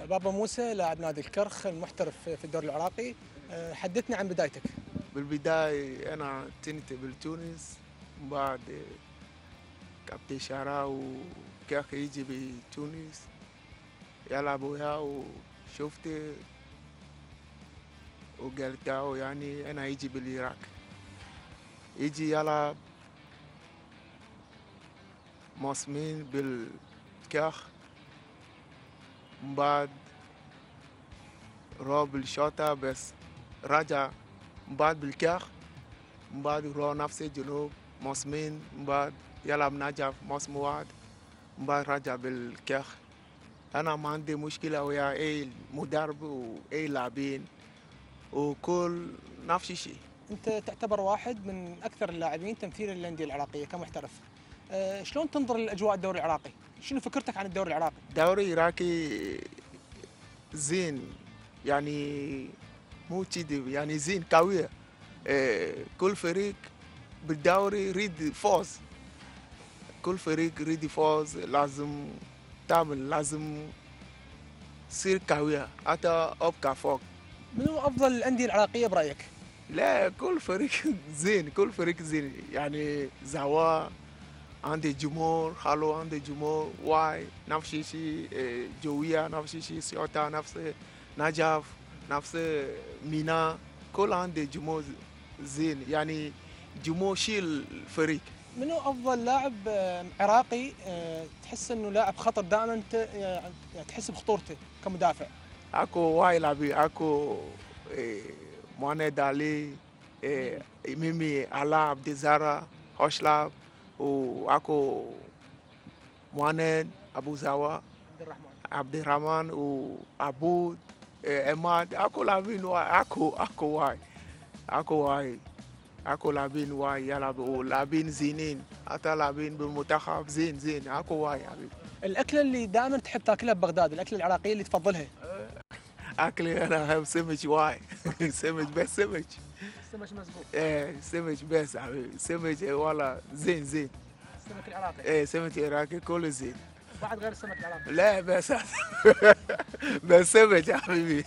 بابا موسى لاعب نادي الكرخ المحترف في الدوري العراقي. حدثنا عن بدايتك. بالبداية أنا كنت بتونس، بعد كابتن شعراوي وكاخ يجي بتونس يلعب وياه، وشفت وقلت له يعني أنا يجي بالعراق، يجي يلعب موسمين بالكاخ، بعد روح بالشوطة بس رجع بعد بالكاخ، بعد روح نفس الجنوب موسمين، بعد يلعب نجف موسم واحد، بعد رجع بالكاخ. أنا ما عندي مشكلة ويا أي مدرب وأي لاعبين وكل نفس الشيء. انت تعتبر واحد من اكثر اللاعبين تمثيلا للانديه العراقيه كمحترف. شلون تنظر لاجواء الدوري العراقي؟ شنو فكرتك عن الدوري العراقي؟ الدوري العراقي زين، يعني مو كذي، يعني زين قوية. كل فريق بالدوري يريد فوز، كل فريق يريد يفوز، لازم تعمل، لازم تصير قوية حتى أبقى فوق. منو افضل الانديه العراقيه برايك؟ لا كل فريق زين، كل فريق زين، يعني زوا عندي جمهور، خلو عندي جمهور، واي نفس الشيء، جوية نفس الشيء، سيوطة نفس، نجف نفس، ميناء كل عندي جمهور زين، يعني جمهور شيل الفريق. منو افضل لاعب عراقي تحس انه لاعب خطر دائما تحس بخطورته كمدافع؟ اكو واي لاعبين، اكو مهند علي، ميمي علاء عبد الزارع خوشلاب، واكو مهند ابو زوا عبد الرحمن وعبود عماد، اكو لاعبين واي، اكو واي، اكو لاعبين واي يلعبوا، لاعبين زينين، حتى لاعبين بالمنتخب زين، اكو واي حبيبي. الاكله اللي دائما تحب تاكلها ببغداد، الاكله العراقيه اللي تفضلها؟ اكلي انا احب سمك واي. سمك بس سمك. السمك مزبوط. سمك بس حبيبي، سمك والله زين. السمك العراقي. سمك العراقي كله زين. بعد غير السمك العراقي؟ لا بس بس سمك يا حبيبي.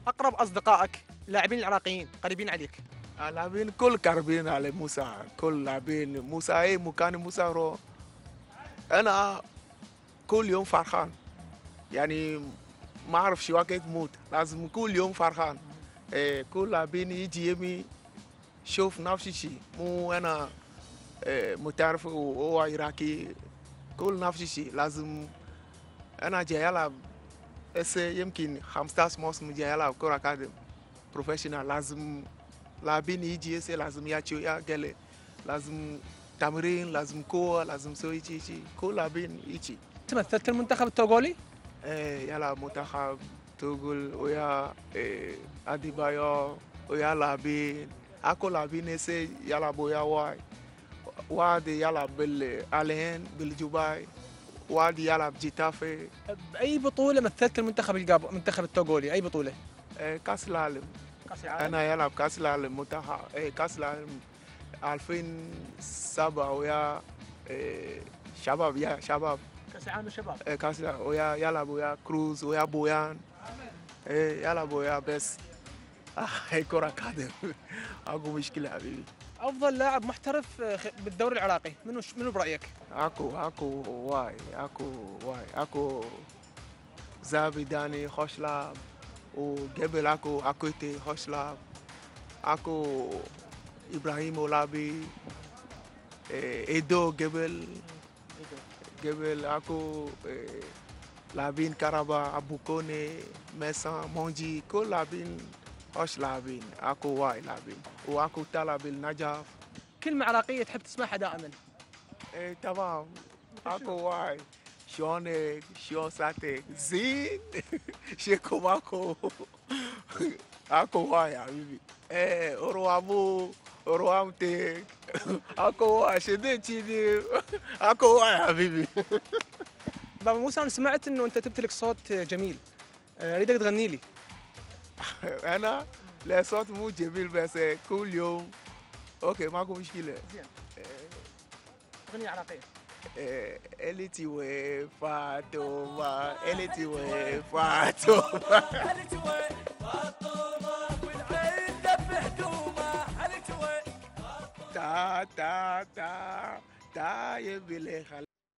اقرب اصدقائك لاعبين العراقيين قريبين عليك؟ لاعبين كل قريبين على موسى، كل لاعبين موسى، اي مكان موسى روح انا كل يوم فرحان، يعني ما اعرف شو وقت موت، لازم كل يوم فرحان. كل لاعبين يجي يمي شوف نفس الشيء، مو انا متعرف وهو عراقي، كل نفس الشيء، لازم انا جاي العب هسه يمكن 15 موسم جاي العب كرة قدم بروفيشنال، لازم لاعبين يجي هسه لازم ياتشوا يا قال لازم تمرين، لازم قوة، لازم سوي شيء، كل لاعبين يجي. مثلت المنتخب التوغولي؟ يلعب منتخب توغل ويا اديبايو ويا لاعبين، اكو لاعبين هسه يلعبوا ويا واي، واحد يلعب بالالين بالجوباي، واحد يلعب جيتافي. باي بطوله مثلت المنتخب التوغولي، اي بطوله؟ كاس العالم. انا يلعب كاس العالم منتخب، كاس العالم 2007 ويا شباب، يا شباب كاس العالم الشباب. كاس العالم ويا يلعب ويا كروز ويا بويان، يلعب ويا بس هي كرة قدم. اكو مشكلة حبيبي. افضل لاعب محترف بالدوري العراقي منو برايك؟ اكو واي، اكو زابي داني خوشلاب، وقبل اكو اكويتي خوشلاب، اكو ابراهيم اولابي، ايدو قبل اكو لاعبين كهرباء، ابو كوني، ميسان، مونجي، كل لاعبين خوش لاعبين، اكو واي لاعبين، واكو تلعب النجف. كلمة عراقية تحب تسمعها دائما؟ تمام، اكو واي، شلونك، شلون صحتك، زين. شيكو ماكو. اكو واي يا حبيبي. اروامو، اروامتك. اكو واي شديد شديد. اكو واي يا حبيبي. بابا موسى، انا سمعت انه انت تمتلك صوت جميل، اريدك تغني لي. انا لا صوت مو جميل بس كل يوم اوكي ماكو مشكله. زين. اغنية عراقية. التي وفاتوما التي وفاتوما تا تا تا تا يبي لي